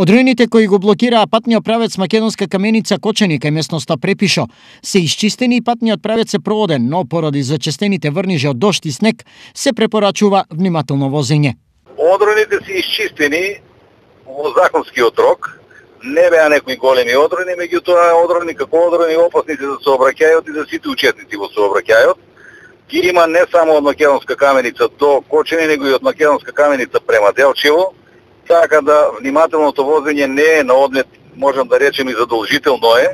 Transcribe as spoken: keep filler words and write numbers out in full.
Одроените кои го блокираа патниот правец Македонска каменица Кочани кај местноста Препишо се исчистени и патниот правец е проводен, но поради зачестените врнижи од дожд и снег се препорачува внимателно возење. Одроените се исчистени во законскиот рок. Не беа некои големи одроени, меѓутоа одроени како одроени опасни се за сообраќајот и за сите учесници во сообраќајот. Ги има не само од Македонска каменица до Кочани, него и од Македонска каменица према Делчево. Така да внимателното возење не е на одмет, можам да речем и задолжително е.